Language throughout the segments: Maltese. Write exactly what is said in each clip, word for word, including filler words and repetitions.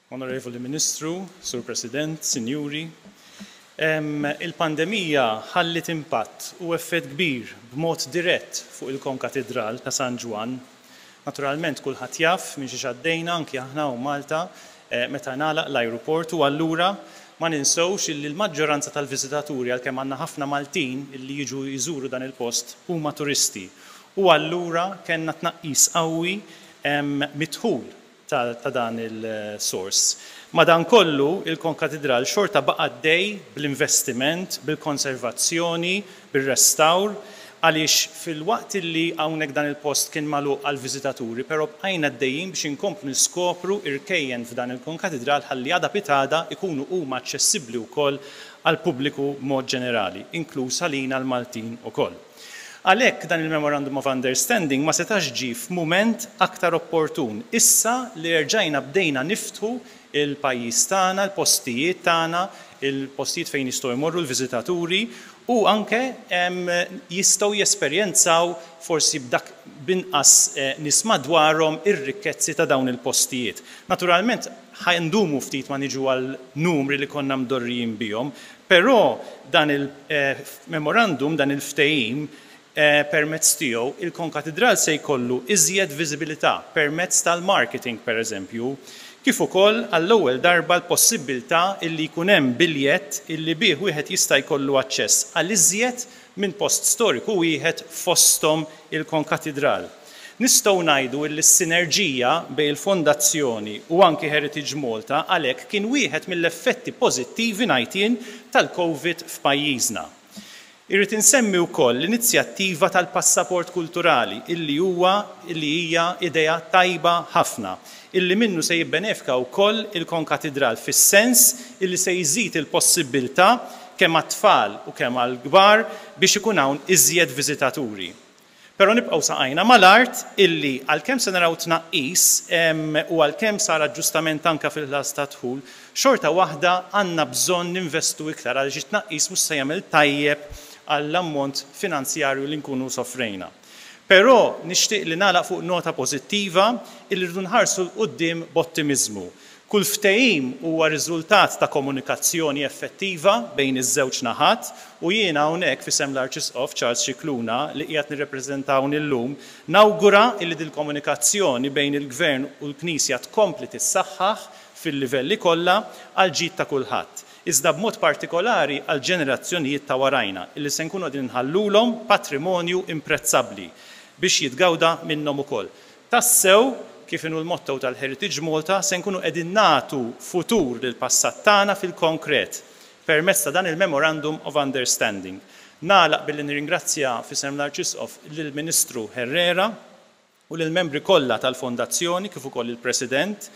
Onorevoli Ministru, Sur President, Sinjuri, il-pandemija ħallit impatt u effett kbir b'mod dirett fuq il-Konkatidral ta' San Ġwann. Naturalment kulħadd jaf minn xiex għaddejna anki aħna u Malta meta ngħalaq l-ajruport u allura ma ninsewx illi l-maġġoranza tal-viżitaturi, għalkemm għandna ħafna Maltin illi jiġu jżuru dan il-post, huma turisti. U allura kellna tnaqqis qawwi mid-dħul ta' dan il-sors. Madankollu, il-Konkatidral xorta baqa' għaddej bl-investiment, bil-konservazzjoni, bil-restawr, għaliex fil-waqt li hawnhekk dan il-post kien magħluq għal-viżitaturi, però bqajna għaddejjin biex inkomplu niskopru irkejjen f'dan il-Konkatidral ħalli għada pitgħada ikunu huma aċċessibbli wkoll għall-pubbliku mod ġenerali, inkluż għalina l-Maltin ukoll. Għalhekk dan il-Memorandum of Understanding ma setax ġie f'mument aktar opportun. Issa li rġajna bdejna niftħu il-pajjiż tagħna, il-postijiet tagħna, il-postijiet fejn jistgħu jmorru l-viżitaturi u anke jistgħu jesperjenzaw forsi b'dak binqas nies madwarhom ir-rikkezzi ta' dawn il-postijiet. Naturalment ħa ndumu ftit ma niġu għal numri li konna mdorrijin bihom, però dan il-memorandum, dan il-ftehim, permezz tiegħu il-Konkatidral se jkollu iżjed viżibilità permezz tal-marketing pereżempju, kif ukoll għall-ewwel darba l-possibilità illi jkun hemm biljett illi bih wieħed jista' jkollu aċċess għal iżjed minn post storiku wieħed fosthom il-Konkatidral. Nistgħu ngħidu li s-sinerġija bejn il-Fondazzjoni u anki Heritage Malta għalhekk kien wieħed mill-effetti pożittivi ngħid jien tal-Covid f'pajjiżna. Irrid insemmi wkoll l-inizjattiva tal-passaport kulturali illi huwa illi hija idea tajba ħafna, illi minnu se jibbenefika wkoll il-Konkatidral fis-sens illi se jżid il-possibilità kemm għat-tfal u kemm għall-kbar biex ikun hawn iżjed viżitaturi. Però nibqgħu saqajna mal-art illi għalkemm se naraw tnaqqis u għalkemm sar aġġustament anke fil-ħlas ta' dħul, xorta waħda għandna bżonn ninvestu iktar għaliex it-tnaqqis mhux se jagħmel tajjeb għall-ammont finanzjarju li nkunu soffrejna. Però nixtieq li nagħlaq fuq nota pożittiva illi rridu nħarsu 'l quddiem b'ottimiżmu. Kull ftehim huwa riżultat ta' komunikazzjoni effettiva bejn iż-żewġ naħat u jiena hawnhekk f'isem l-Arċisqof Charles Scicluna li qiegħed nirrepreżentaw illum nawgura illi dil-komunikazzjoni bejn il-Gvern u l-Knisja tkompli tissaħħaħ fil-livelli kollha għal ġid ta' kulħadd. Iżda b'mod partikolari għal ġenerazzjonijiet ta' warajna illi se nkunu qegħdin nħallulhom patrimonju imprezzabbli biex jitgawda minnhom ukoll. Tassew, kif inhu l-motto tal-Heritage Malta, se nkunu qegħdin nagħtu futur lil passat tagħna fil-konkret permezz ta' dan il-Memorandum of Understanding. Nagħlaq billi nirringrazzja f'isem l-Arċisqof lill-Ministru Herrera u lill-membri kollha tal-Fondazzjoni kif ukoll il-President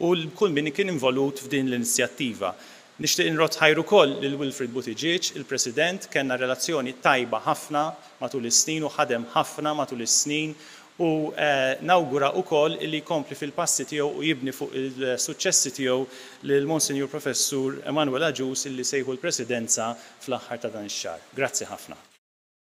u kull min kien involut f'din l-inizjattiva. Nixtieq inrodd ħajr ukoll lil Wilfred Buttigieg, il-President, kellna relazzjoni tajba ħafna matul is-snin u ħadem ħafna matul is-snin u nawgura wkoll li jkompli fil-passi tiegħu u jibni fuq il-suċċessi tiegħu lil Monsinjur Professur Emanuel Agius illi se jieħu l-Presidenza fl-aħħar ta' dan ix-xahar. Grazzi ħafna.